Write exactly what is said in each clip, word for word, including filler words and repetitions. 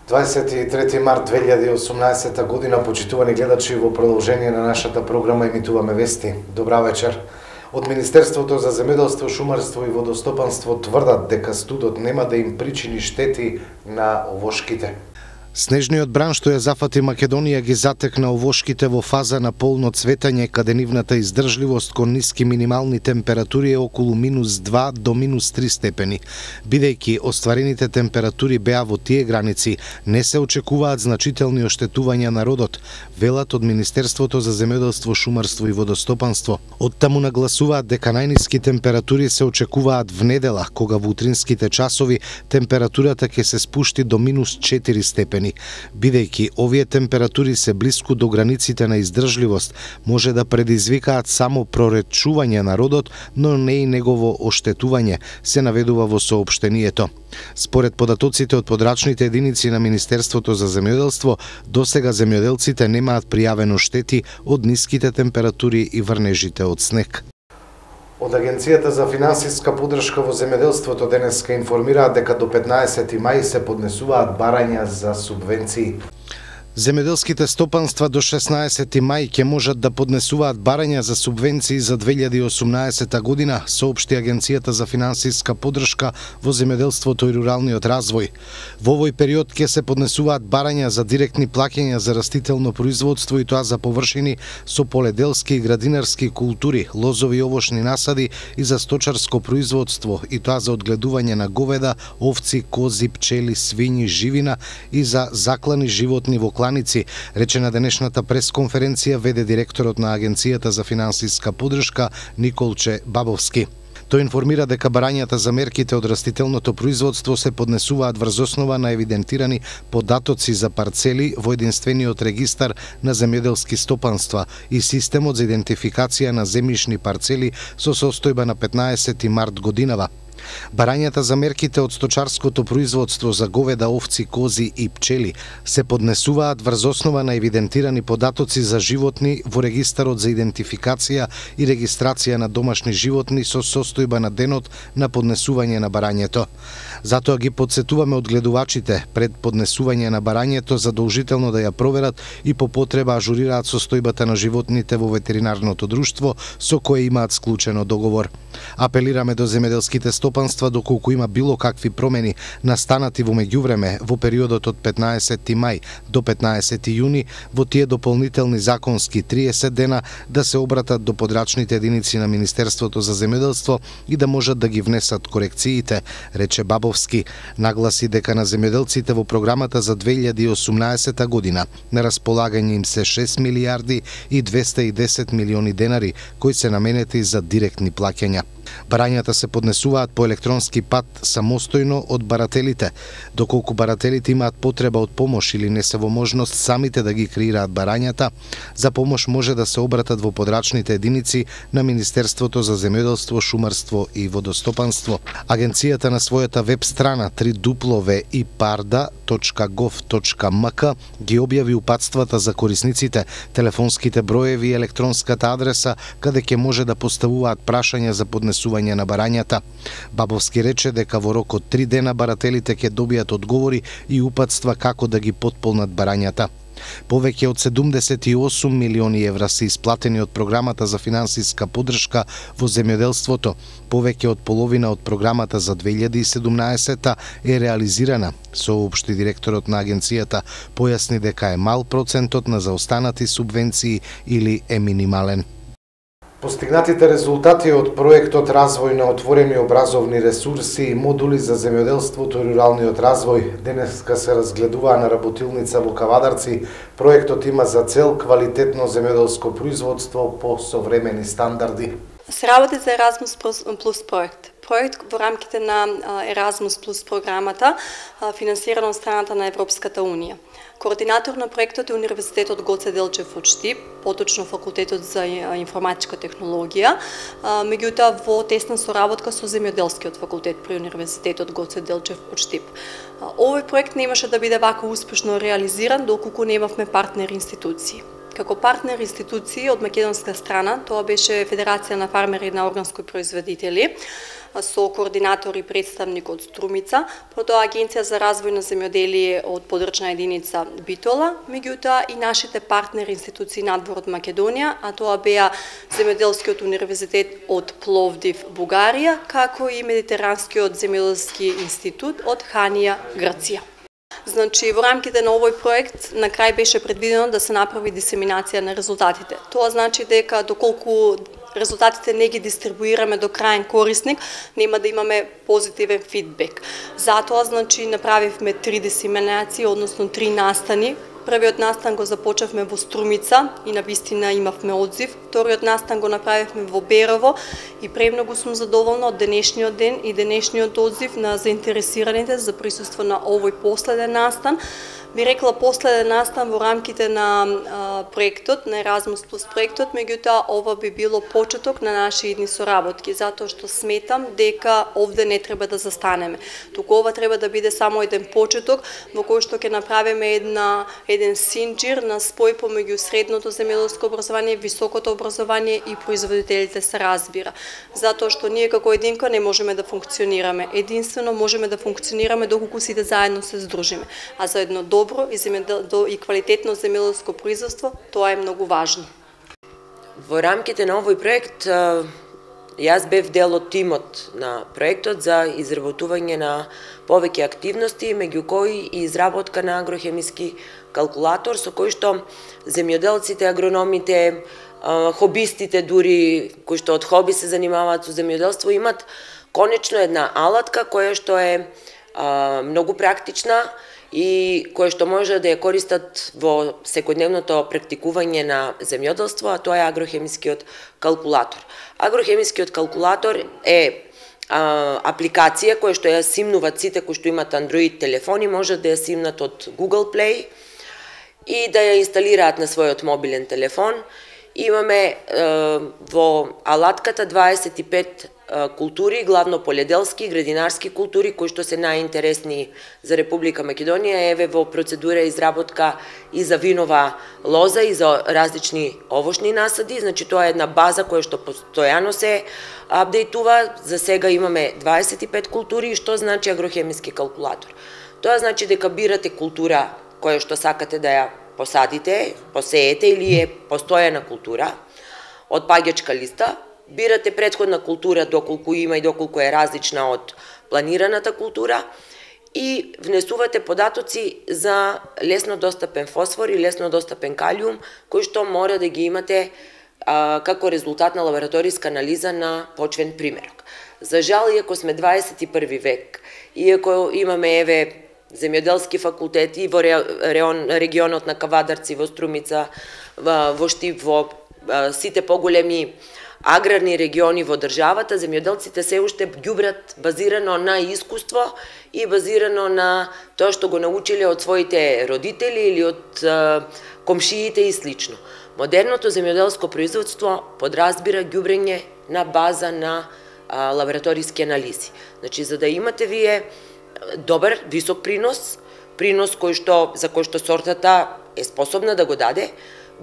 дваесет и трети март две илјади и осумнаесета година, почитувани гледачи, во продолжение на нашата програма емитуваме вести. Добра вечер. Од Министерството за земјоделство, шумарство и водостопанство тврдат дека студот нема да им причини штети на овошките. Снежниот бран што ја зафати Македонија ги затекна овошките во фаза на полно цветање, каде нивната издржливост кон ниски минимални температури е околу минус два до минус три степени. Бидејќи остварените температури беа во тие граници, не се очекуваат значителни оштетувања на родот, велат од Министерството за земјоделство, шумарство и водостопанство. Оттаму нагласуваат дека најниски температури се очекуваат внедела, кога во утринските часови температурата ќе се спушти до минус четири степени. Бидејќи овие температури се блиску до границите на издржливост, може да предизвикаат само проречување на родот, но не и негово оштетување, се наведува во соопштението. Според податоците од подрачните единици на Министерството за земјоделство, досега земјоделците немаат пријавено штети од ниските температури и врнежите од снег. Од Агенцијата за финансиска поддршка во земјоделството денеска информираат дека до петнаесети мај се поднесуваат барања за субвенции. Земјоделските стопанства до шеснаесети мај ќе можат да поднесуваат барања за субвенции за две илјади и осумнаесета година, соопшти Агенцијата за финансиска поддршка во земјоделството и руралниот развој. Во овој период ќе се поднесуваат барања за директни плаќања за растително производство и тоа за површини со поледелски и градинарски култури, лозови и овошни насади и за сточарско производство и тоа за одгледување на говеда, овци, кози, пчели, свињи, живина и за заклани животни во кланици, рече на денешната пресконференција веде директорот на Агенцијата за финансиска поддршка Николче Бабовски. Тој информира дека барањата за мерките од растителното производство се поднесуваат врз основа на евидентирани податоци за парцели во единствениот регистар на земјоделски стопанства и системот за идентификација на земјишни парцели со состојба на петнаесети март годинава. Барањата за мерките од сточарското производство за говеда, овци, кози и пчели се поднесуваат врз основа на евидентирани податоци за животни во регистарот за идентификација и регистрација на домашни животни со состојба на денот на поднесување на барањето. Затоа ги подсетуваме одгледувачите пред поднесување на барањето задолжително да ја проверат и по потреба ажурираат состојбата на животните во ветеринарното друштво со кое имаат склучено договор. Апелираме до земјоделските стопанства доколку има било какви промени настанати во меѓувреме во периодот од петнаесети мај до петнаесети јуни во тие дополнителни законски триесет дена да се обратат до подрачните единици на Министерството за земјоделство и да можат да ги внесат корекциите, рече Бабовски. Нагласи дека на земјоделците во програмата за две илјади и осумнаесета година на располагање им се шест милијарди и двесте и десет милиони денари кои се наменети за директни плаќања. Барањата се поднесуваат по електронски пат самостојно од барателите. Доколку барателите имаат потреба од помош или не се во можност самите да ги креираат барањата, за помош може да се обратат во подрачните единици на Министерството за земјоделство, шумарство и водостопанство. Агенцијата на својата веб страна три дупlo в и парда точка гов точка ем ка ги објави упатствата за корисниците, телефонските броеви и електронската адреса каде ќе може да поставуваат прашања за поднесување на барањата. Бабовски рече дека во рок од три дена барателите ќе добијат одговори и упатства како да ги потполнат барањата. Повеќе од седумдесет и осум милиони евра се исплатени од програмата за финансиска поддршка во земјоделството. Повеќе од половина од програмата за две илјади и седумнаесета е реализирана, соопшти директорот на агенцијата. Појасни дека е мал процентот на заостанати субвенции или е минимален. Постигнатите резултати од проектот Развој на отворени образовни ресурси и модули за земјоделството и руралниот развој денеска се разгледуваа на работилница во Кавадарци. Проектот има за цел квалитетно земјоделско производство по современи стандарди. Се работи за Еразмус плюс проект. Проект во рамките на Еразмус плюс програмата, финансирана од страната на Европската унија. Координатор на проектот е Универзитетот Гоце Делчев од Штип, поточно Факултетот за информатичка технологија, меѓутоа во тесна соработка со Земјоделскиот факултет при Универзитетот Гоце Делчев од Штип. Овој проект немаше да биде вака успешно реализиран доколку немавме партнер институции. Како партнер институции од македонска страна, тоа беше Федерација на фармери на органски производители, со координатор и представник од Струмица, потоа Агенција за развој на земјоделие од подрачна единица Битола, меѓутоа и нашите партнери институции надвор од Македонија, а тоа беа Земјоделскиот универзитет од Пловдив, Бугарија, како и Медитеранскиот земјоделски институт од Ханија, Грција. Значи, во рамките на овој проект на крај беше предвидено да се направи дисеминација на резултатите. Тоа значи дека доколку резултатите не ги дистрибуираме до крајен корисник, нема да имаме позитивен фидбек. Затоа, значи, направивме три дисеминации, односно три настани. Првиот настан го започнавме во Струмица и на вистина имавме одзив. Вториот настан го направивме во Берово и премногу сум задоволна од денешниот ден и денешниот одзив на заинтересираните за присуство на овој последен настан. Би рекла последен настан во рамките на а, проектот, на Еразмус плюс проектот, меѓутоа ова би било почеток на наши идни соработки, затоа што сметам дека овде не треба да застанеме. Туку ова треба да биде само еден почеток во кој што ќе направиме една еден синџир на спој помеѓу средното земјоделско образование, високото образование и производителите се разбира. Затоа што ние како единка не можеме да функционираме. Единствено можеме да функционираме доколку сите заедно се здружиме. А за едно добро и, земјодел... и квалитетно земјоделско производство, тоа е многу важно. Во рамките на овој проект, јас бев дел од тимот на проектот за изработување на повеќе активности, меѓу кои и изработка на агрохемиски калкулатор, со кој што земјоделците, агрономите, хобистите дури, кои што од хоби се занимаваат со земјоделство, имат конечно една алатка која што е а, многу практична и која што може да ја користат во секојдневното практикување на земјоделство, а тоа е агрохемискиот калкулатор. Агрохемискиот калкулатор е а, апликација која што ја симнуваат сите кои што имаат Android телефони, може да ја симнат од Google Play и да ја инсталираат на својот мобилен телефон. Имаме е, во алатката дваесет и пет е, култури, главно поледелски и градинарски култури, кои што се најинтересни за Република Македонија. Еве во процедура изработка и за винова лоза и за различни овошни насади. Значи тоа е една база која што постојано се апдейтува. За сега имаме дваесет и пет култури. И што значи агрохемиски калкулатор? Тоа значи дека бирате култура која што сакате да ја посадите, посеете или е постојана култура од паѓачка листа, бирате претходна култура доколку има и доколку е различна од планираната култура и внесувате податоци за лесно достапен фосфор и лесно достапен калиум, кои што мора да ги имате а, како резултат на лабораториска анализа на почвен примерок. За жал, иако сме дваесет и први век, иако имаме еве земјоделски факултети и во регионот на Кавадарци, во Струмица, во Штип, во сите поголеми аграрни региони во државата, земјоделците се уште ѓубрат базирано на искуство и базирано на тоа што го научиле од своите родители или од комшиите и слично. Модерното земјоделско производство подразбира ѓубрење на база на лабораториски анализи. Значи, за да имате вие добар, висок принос, принос кој што, за кој што сортата е способна да го даде,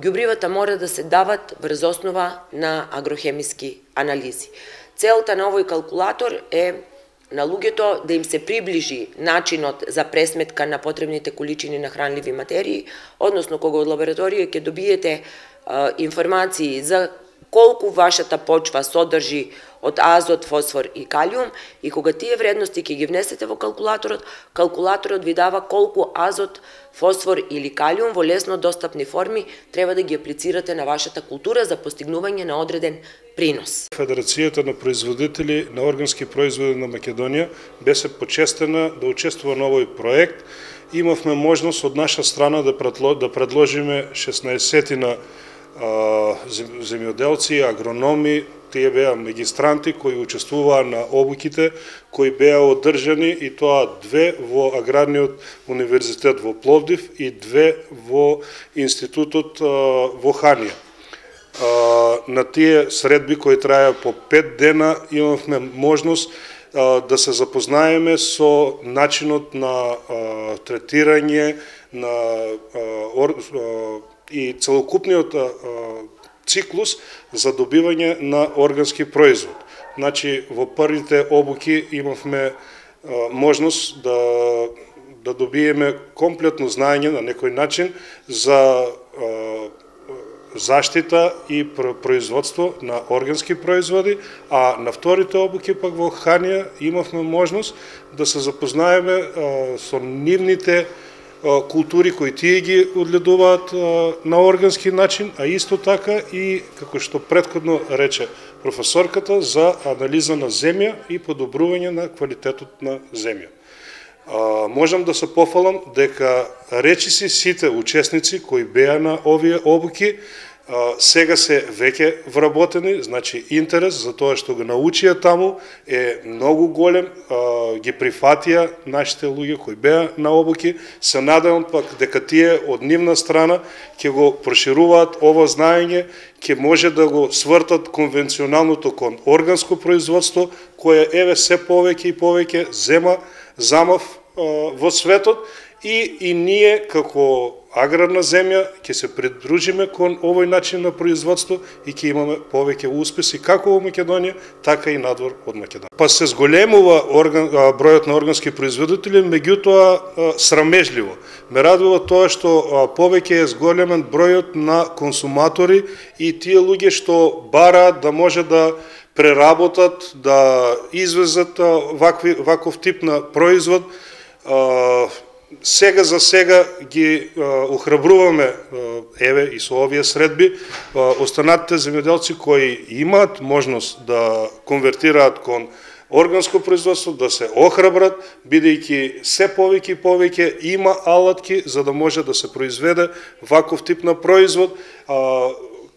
ѓубривата мора да се дават врз основа на агрохемиски анализи. Целта на овој калкулатор е на луѓето да им се приближи начинот за пресметка на потребните количини на хранливи материи, односно кога од лабораторија ќе добиете а, информации за колку вашата почва содржи од азот, фосфор и калиум, и кога тие вредности ќе ги внесете во калкулаторот, калкулаторот ви дава колку азот, фосфор или калиум во лесно достапни форми треба да ги аплицирате на вашата култура за постигнување на одреден принос. Федерацијата на производители на органски производи на Македонија беше почестена да учествува на овој проект. Имавме можност од наша страна да предложиме шеснаесетина земјоделци, агрономи, тие беа магистранти кои учествуваа на обуките кои беа одржани, и тоа две во Аграрниот универзитет во Пловдив и две во институтот во Ханија. На тие средби кои траја по пет дена имавме можност да се запознаеме со начинот на третирање, на и целокупниот циклус за добивање на органски производ. Значи, во првите обуки имавме можност да да добиеме комплетно знаење на некој начин за заштита и производство на органски производи, а на вторите обуки пак во Ханија имавме можност да се запознаеме со нивните култури кои тие ги одледуваат на органски начин, а исто така и, како што претходно рече професорката, за анализа на земја и подобрување на квалитетот на земја. А, можам да се пофалам дека речиси сите учесници кои беа на овие обуки а, сега се веќе вработени, значи интерес за тоа што го научија таму е многу голем, а, ги прифатија нашите луѓе кои беа на обуки. Се надевам пак дека тие од нивна страна ќе го прошируваат ово знаење, ќе може да го свртат конвенционалното кон органско производство, кое еве се повеќе и повеќе зема замав во светот, и, и ние како аграрна земја ќе се придружиме кон овој начин на производство и ќе имаме повеќе успеси како во Македонија, така и надвор од Македонија. Па се зголемува орган, бројот на органски производители, меѓутоа срамежливо. Ме радува тоа што повеќе е зголемен бројот на консуматори и тие луѓе што бараат да може да преработат, да извезат вакви, ваков тип на производ. Сега за сега ги охрабруваме, еве и со овие средби, останатите земјоделци кои имаат можност да конвертираат кон органско производство, да се охрабрат, бидејќи се повеќе и повеќе има алатки за да може да се произведе ваков тип на производ,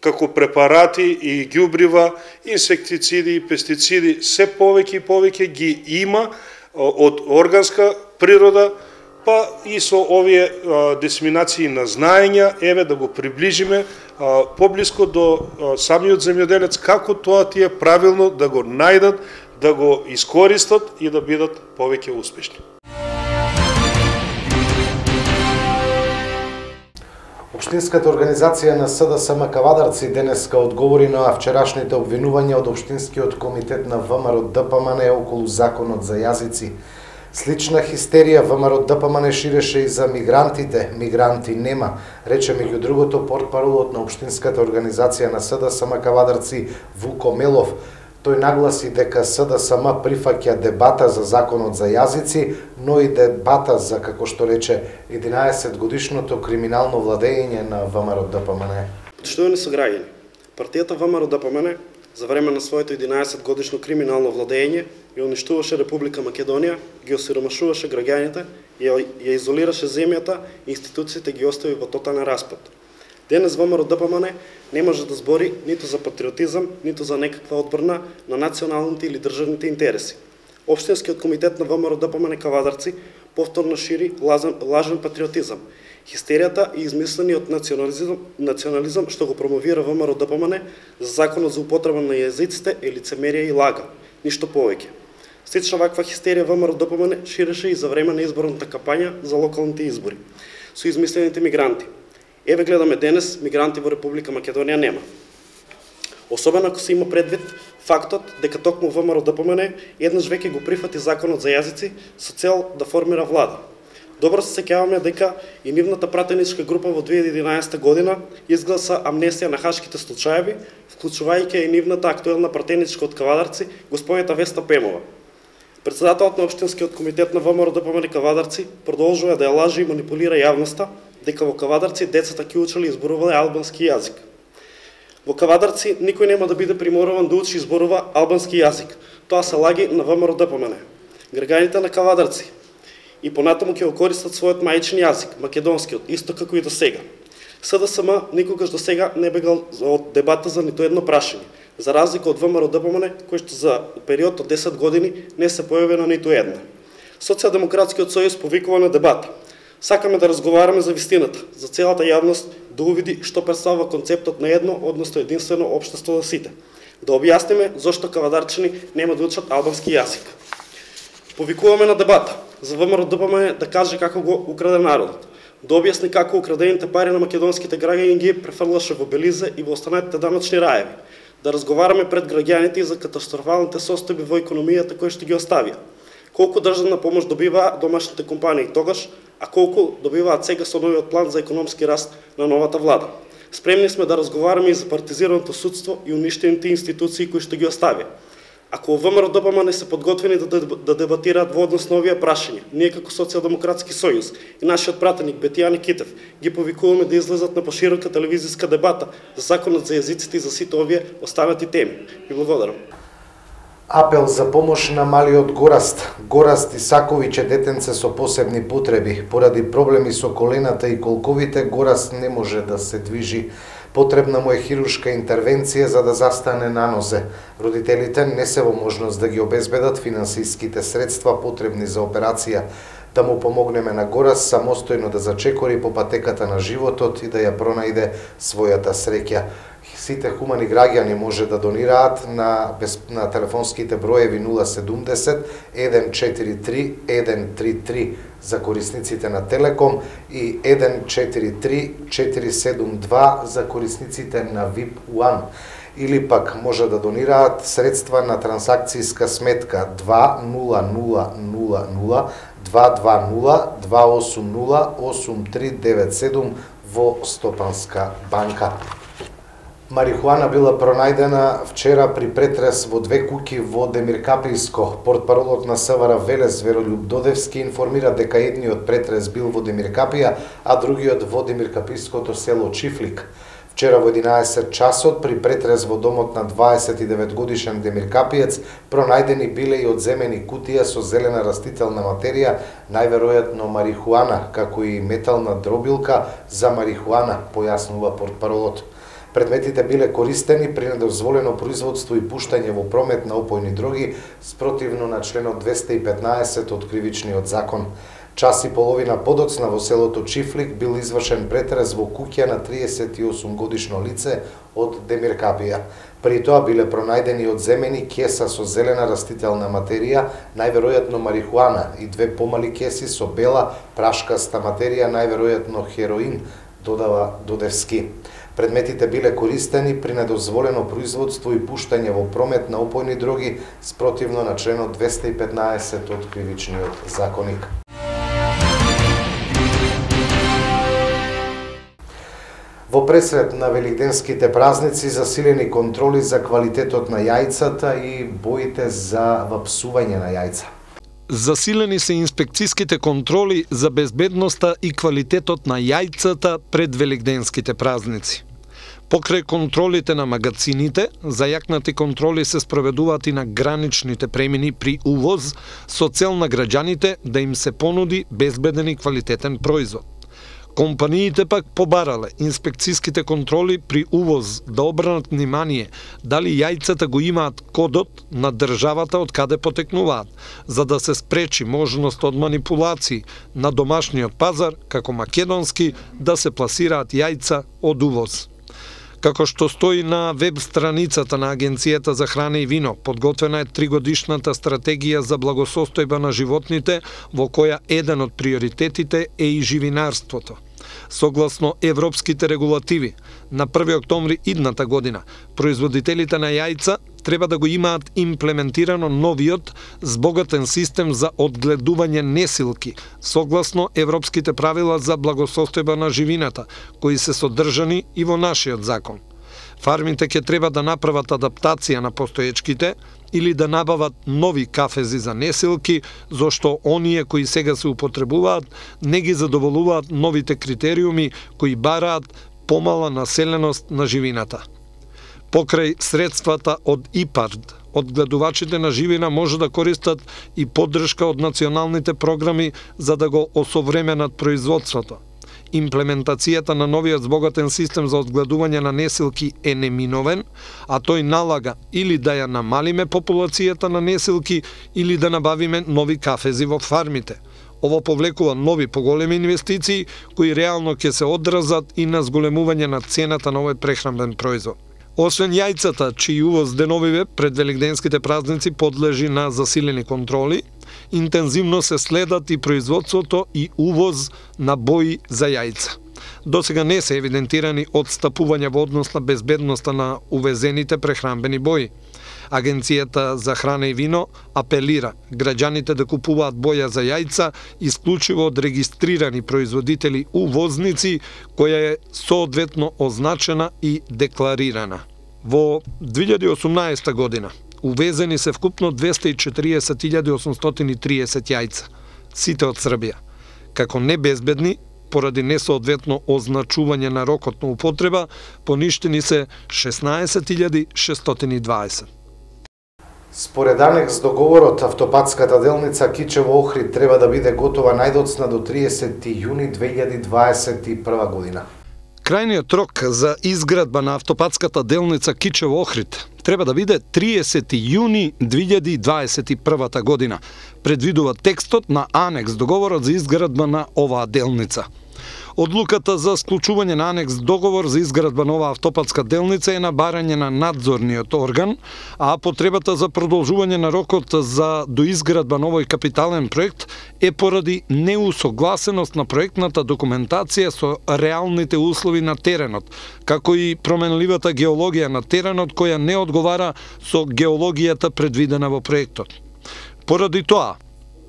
како препарати и ѓубрива, инсектициди и пестициди, се повеќе и повеќе ги има од органска природа, па и со овие дисеминации на знаења, еве да го приближиме поблиско до самиот земјоделец, како тоа тие правилно да го најдат, да го искористат и да бидат повеќе успешни. Општинската организација на СДСМ Кавадарци денеска одговори на вчерашните обвинувања од Општинскиот комитет на ВМРО ДПМН околу законот за јазици. Слична хистерија ВМРО ДПМН ширеше и за мигрантите. Мигранти нема, рече меѓу другото портпаролот на Општинската организација на СДСМ Кавадарци Вуко Мелов. Тој нагласи дека СДСМ прифаќа дебата за законот за јазици, но и дебата за, како што рече, единаесет годишното криминално владење на ВМРО ДПМН. Почитувани сограѓани, партијата ВМРО ДПМН за време на своето единаесет годишно криминално владење ја уништуваше Република Македонија, ги осиромашуваше граѓаните, ја, ја изолираше земјата и институциите ги остави во тотален распад. Денес ВМРО ДПМН не може да збори ниту за патриотизам, ниту за некаква одбрана на националните или државните интереси. Општинскиот комитет на ВМРО ДПМН Кавадарци повторно шири лажен, лажен патриотизам. Хистеријата и измислениот национализам, национализам што го промовира ВМРО ДПМН за законот за употреба на јазиците е лицемерие и лага, ништо повеќе. Слична ваква хистерија ВМРО ДПМН ширеше и за време на изборната кампања за локалните избори со измислените мигранти. Еве гледаме денес, мигранти во Република Македонија нема. Особено ако се има предвид фактот дека токму ВМРО ДПМН еднаш веќе го прифати законот за јазици со цел да формира влада. Добро се сеќаваме дека и нивната пратеничка група во две илјади и единаесета година изгласа амнестија на хашките случаеви, вклучувајќи и нивната актуелна пратеничка од Кавадарци, господјата Веста Пемова. Председателот на Општинскиот комитет на ВМРО ДПМН Кавадарци продолжува да ја лажи и манипулира јавноста дека во Кавадарци децата ќе учеле и зборувале албански јазик. Во Кавадарци никој нема да биде приморуван да учи и зборува албански јазик. Тоа се лаги на ВМРО ДПМН. Граѓаните на Кавадарци и понатаму ќе го користат својот мајчин јазик, македонскиот, исто како и до сега. СДСМ никогаш до сега не бегал од дебата за ниту едно прашање, за разлика од ВМРО ДПМН, кој што за период од десет години не се појави на ниту една. Социјалдемократскиот сојуз повикува на дебата. Сакаме да разговараме за вистината, за целата јавност да увиди што представува концептот на едно, односно единствено општество за сите. Да објасниме зошто кавадарчани нема да учат албански јазик. Повикуваме на дебата за ВМРО ДПМН да каже како го украде народот. да објасни како украдените пари на македонските граѓани ги префрлаше во Белизе и во останатите даночни раеви, да разговараме пред граѓаните и за катастрофалните состојби во економијата кои што ги оставија. Колку државна помош добиваа домашните компании тогаш, а колку добиваат сега со новиот план за економски раст на новата влада. Спремни сме да разговараме и за партизираното судство и уништените институции кои што ги оставија. Ако ВМРО-ДПМН не се подготвени да, да дебатираат во однос на овие прашања, ние како Социјалдемократски сојуз и нашиот пратеник Бетијани Китев ги повикуваме да излезат на поширока телевизиска дебата за законот за јазиците и за сите овие останати теми. Ви благодарам. Апел за помош на малиот Гораст. Гораст Исаковиќ е детенце со посебни потреби. Поради проблеми со колената и колковите, Гораст не може да се движи. Потребна му е хируршка интервенција за да застане на нозе. Родителите не се во можност да ги обезбедат финансиските средства потребни за операција. Да му помогнеме на Гораст самостојно да зачекори по патеката на животот и да ја пронајде својата среќа. Сите хумани граѓани може да донираат на, на телефонските броеви нула седумдесет еден четири три еден три три за корисниците на Телеком и еден четири три четири седум два за корисниците на ви ай пи еден. Или пак може да донираат средства на трансакцијска сметка два нула нула нула нула два два нула два осум нула осум три девет седум во Стопанска банка. Марихуана била пронајдена вчера при претрес во две куќи во Демиркапијско. Портпаролот на СВР Велес Веролјуб Додевски информира дека едниот претрес бил во Демиркапија, а другиот во Демиркапијското село Чифлик. Вчера во единаесет часот при претрес во домот на дваесет и девет годишен демиркапиец пронајдени биле и одземени кутија со зелена растителна материја, најверојатно марихуана, како и метална дробилка за марихуана, појаснува портпаролот. Предметите биле користени при недозволено производство и пуштање во промет на опојни дроги спротивно на членот двесте и петнаесет од Кривичниот закон. Час и половина подоцна во селото Чифлик бил извршен претрес во куќа на триесет и осум годишно лице од Демиркапија. При тоа биле пронајдени одземени кеса со зелена растителна материја, најверојатно марихуана, и две помали кеси со бела прашкаста материја, најверојатно хероин, додава Додевски. Предметите биле користени при недозволено производство и пуштање во промет на опојни дроги спротивно на членот двесте и петнаесет од Кривичниот законник. Во пресред на великденските празници засилени контроли за квалитетот на јајцата и боите за вапсување на јајца. Засилени се инспекцијските контроли за безбедноста и квалитетот на јајцата пред великденските празници. Покрај контролите на магацините, зајакнати контроли се спроведуваат и на граничните премини при увоз со цел на граѓаните да им се понуди безбеден и квалитетен производ. Компаниите пак побарале инспекцијските контроли при увоз да обрнат внимание дали јајцата го имаат кодот на државата од каде потекнуваат, за да се спречи можност од манипулации на домашниот пазар, како македонски, да се пласираат јајца од увоз. Како што стои на веб страницата на Агенцијата за храна и вино, подготвена е тригодишната стратегија за благосостојба на животните, во која еден од приоритетите е и живинарството. Согласно европските регулативи, на први октомври идната година, производителите на јајца треба да го имаат имплементирано новиот збогатен систем за одгледување несилки, согласно европските правила за благосостојба на живината, кои се содржани и во нашиот закон. Фармите ќе треба да направат адаптација на постоечките или да набават нови кафези за несилки, зашто оние кои сега се употребуваат не ги задоволуваат новите критериуми кои бараат помала населеност на живината. Покрај средствата од ИПАРД, одгледувачите на живина може да користат и поддршка од националните програми за да го осовременат производството. Имплементацијата на новиот збогатен систем за одгледување на несилки е неминовен, а тој налага или да ја намалиме популацијата на несилки или да набавиме нови кафези во фармите. Ово повлекува нови поголеми инвестиции кои реално ќе се одразат и на зголемување на цената на овој прехранбен производ. Освен јајцата, чиј увоз деновиве пред великденските празници подлежи на засилени контроли, интензивно се следат и производството и увоз на бои за јајца. Досега не се евидентирани одстапувања во однос на безбедноста на увезените прехранбени бои. Агенцијата за храна и вино апелира граѓаните да купуваат боја за јајца исклучиво од регистрирани производители увозници, која е соодветно означена и декларирана. Во две илјади и осумнаесета година увезени се вкупно двесте и четириесет илјади осумстотини и триесет јајца, сите од Србија, како небезбедни, поради несоодветно означување на рокот на употреба, поништени се шеснаесет илјади шестстотини и дваесет. Според анекс договорот, автопатската делница Кичево-Охрид треба да биде готова најдоцна до триесети јуни две илјади дваесет и прва година. Крајниот рок за изградба на автопатската делница Кичево-Охрид треба да биде триесети јуни две илјади дваесет и прва година, предвидува текстот на анекс договорот за изградба на оваа делница. Одлуката за склучување на анекс договор за изградба на оваа автопатска делница е на барање на надзорниот орган, а потребата за продолжување на рокот за доизградба на овој капитален проект е поради неусогласеност на проектната документација со реалните услови на теренот, како и променливата геологија на теренот која не одговара со геологијата предвидена во проектот. Поради тоа,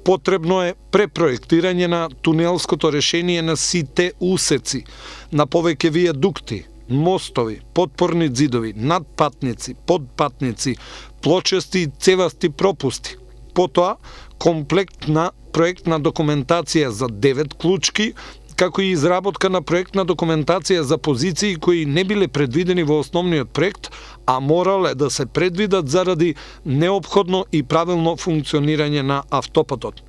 потребно е препроектирање на тунелското решение на сите усеци, на повеќе вијадукти, мостови, подпорни ѕидови, надпатници, подпатници, плочести и цевасти пропусти. Потоа, комплект на проектна документација за девет клучки, како и изработка на проектна документација за позиции кои не биле предвидени во основниот проект, а морале да се предвидат заради неопходно и правилно функционирање на автопатот.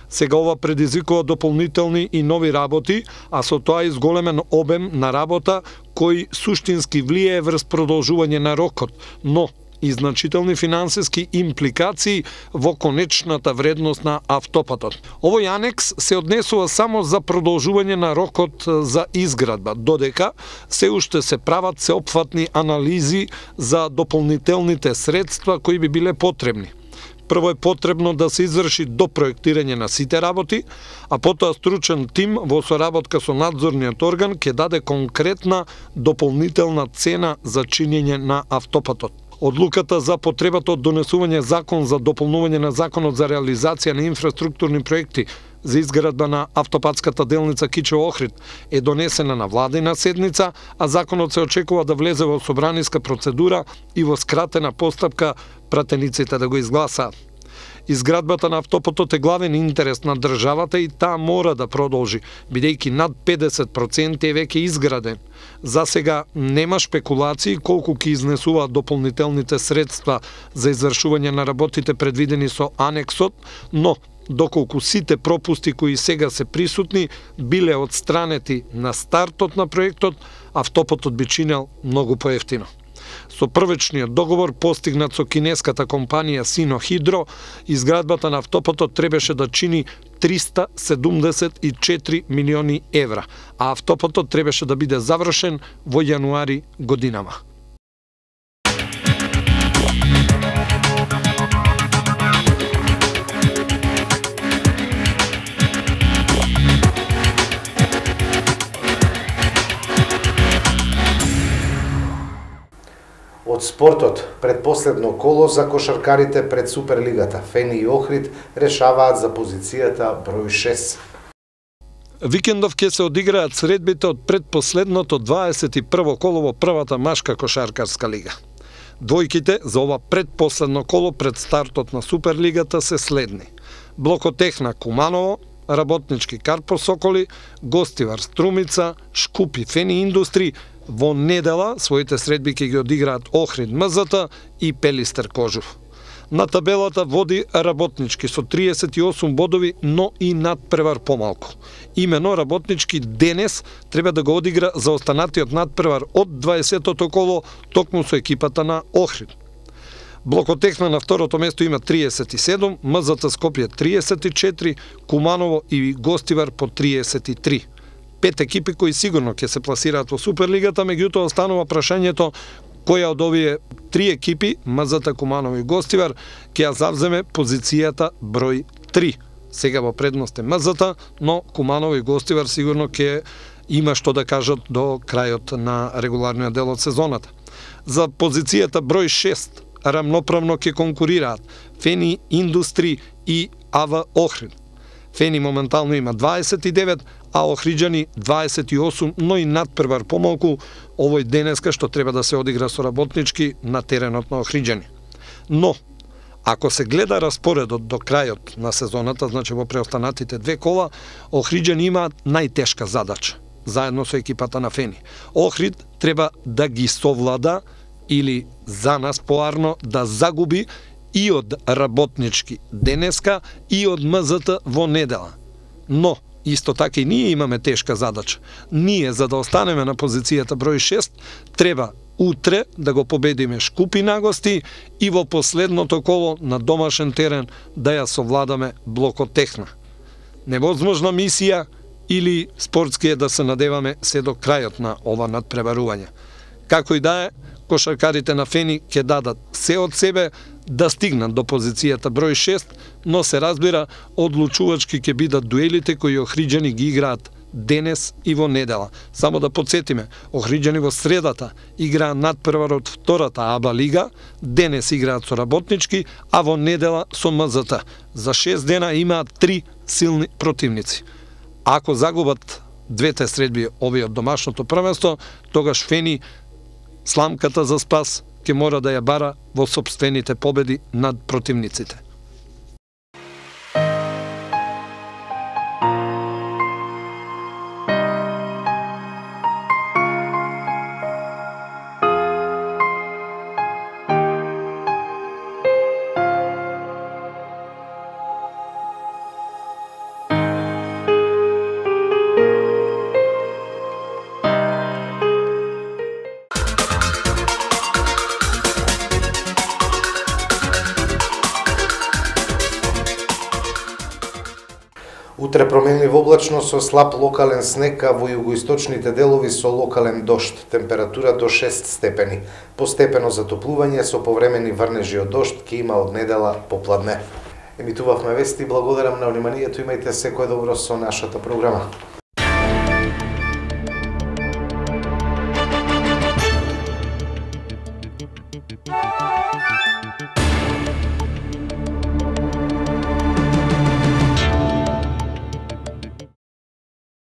Сега ова предизвикува дополнителни и нови работи, а со тоа и зголемен обем на работа кој суштински влијае врз продолжување на рокот, но и значителни финансиски импликации во конечната вредност на автопатот. Овој анекс се однесува само за продолжување на рокот за изградба, додека се уште се прават сеопфатни анализи за дополнителните средства кои би биле потребни. Прво е потребно да се изврши допроектирање на сите работи, а потоа стручен тим во соработка со надзорниот орган ќе даде конкретна дополнителна цена за чинење на автопатот. Одлуката за потребата од донесување закон за дополнување на законот за реализација на инфраструктурни проекти за изградба на автопатската делница Кичево-Охрид е донесена на владина седница, а законот се очекува да влезе во собраниска процедура и во скратена постапка пратениците да го изгласаат. Изградбата на автопатот е главен интерес на државата и таа мора да продолжи, бидејќи над педесет проценти е веќе изграден. За сега нема шпекулации колку ќе изнесуваат дополнителните средства за извршување на работите предвидени со анексот, но доколку сите пропусти кои сега се присутни биле отстранети на стартот на проектот, автопатот би чинел многу поевтино. Со првичниот договор постигнат со кинеската компанија Синохидро, изградбата на автопатот требаше да чини триста седумдесет и четири милиони евра, а автопатот требаше да биде завршен во јануари годинава. Од спортот, предпоследно коло за кошаркарите пред Суперлигата, Фени и Охрид решаваат за позицијата број шест. Викендов ќе се одиграат средбите од предпоследното дваесет и прво коло во првата машка кошаркарска лига. Двојките за ова предпоследно коло пред стартот на Суперлигата се следни: Блокотехна Куманово, Работнички Карпо Соколи, Гостивар Струмица, Шкупи Фени Индустри. Во недела своите средби ќе ги одиграат Охрид МЗТ и Пелистер Кожув. На табелата води Работнички со триесет и осум бодови, но и надпревар помалку. Имено Работнички денес треба да го одигра за останатиот надпревар од дваесетото коло токму со екипата на Охрид. Блокотехна на второто место има триесет и седум, МЗТ Скопје триесет и четири, Куманово и Гостивар по триесет и три. Пет екипи кои сигурно ќе се пласираат во Суперлигата, меѓутоа останува прашањето која од овие три екипи, МЗТ, Куманово и Гостивар, ќе ја завземе позицијата број три. Сега во предност е МЗТ, но Куманово и Гостивар сигурно ќе има што да кажат до крајот на регуларниот дел од сезоната. За позицијата број шест рамноправно ќе конкурираат Фени Индустри и АВ Охрид. Фени моментално има дваесет и девет, а Охриджани дваесет и осум, но и надпревар помалку овој денеска што треба да се одигра со работнички на теренот на Охриджани. Но, ако се гледа распоредот до крајот на сезоната, значи во преостанатите две кола, Охриджани имаат најтешка задача, заедно со екипата на Фени. Охрид треба да ги совлада или за нас поарно да загуби и од работнички денеска и од МЗТ во недела. Но, исто така и ние имаме тешка задача. Ние, за да останеме на позицијата број шест, треба утре да го победиме Шкупи на гости и во последното коло на домашен терен да ја совладаме блокот Техна. Невозможна мисија или спортски е да се надеваме се до крајот на ова надпреварување. Како и да е, кошаркарите на Фени ќе дадат се од себе да стигнат до позицијата број шест, но се разбира одлучувачки ќе бидат дуелите кои Охриджани ги играат денес и во недела. Само да подсетиме, Охриджани во средата играат надпревар од втората АБА лига, денес играат со работнички, а во недела со МЗТ. За шест дена имаат три силни противници. Ако загубат двете средби овие од домашното првенство, тогаш Фени сламката за спас ќе мора да ја бара во сопствените победи над противниците. Утре променлива облачност со слаб локален снег, а во југоисточните делови со локален дожд. Температура до шест степени. Постепено затоплување со повремени врнежи од дожд ќе има од недела попладне. Емитувавме вести, благодарам на вниманието, имајте секој добро со нашата програма.